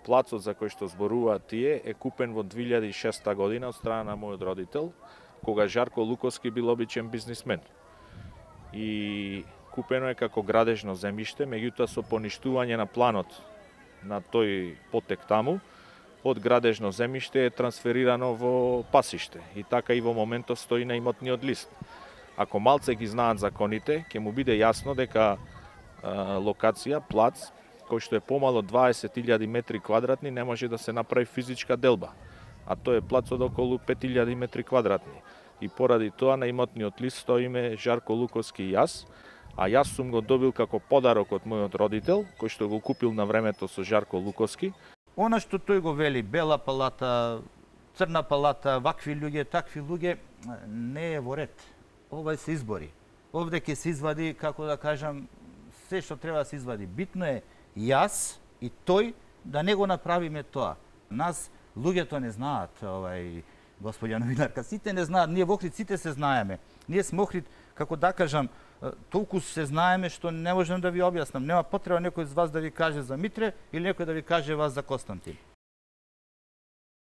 Плацот за кој што зборуваат тие е купен во 2006 година од страна на мојот родител, кога Жарко Луковски бил обичен бизнисмен. И купено е како градежно земјиште, меѓутоа со поништување на планот на тој потек таму, од градежно земјиште е трансферирано во пасиште и така и во моментот стои на имотниот лист. Ако малце ги знаат законите, ќе му биде јасно дека локација, плац, кој што е помало 20.000 метри квадратни, не може да се направи физичка делба, а тој е плац од околу 5.000 метри квадратни. И поради тоа на имотниот лист стоиме Жарко Луковски и јас, а јас сум го добил како подарок од мојот родител, кој што го купил на времето со Жарко Луковски. Она што тој го вели, бела палата, црна палата, вакви луѓе, такви луѓе, не е во ред. Ова се избори. Овде ќе се извади, како да кажам, се што треба да се извади. Битно е јас и тој да не го направиме тоа. Нас луѓето не знаат, господја новинарка, сите не знаат, ние во Охрид сите се знаеме. Ние сме Охрид, како да кажам, толку се знаеме што не можам да ви објаснам. Нема потреба некој од вас да ви каже за Митре или некој да ви каже вас за Константин.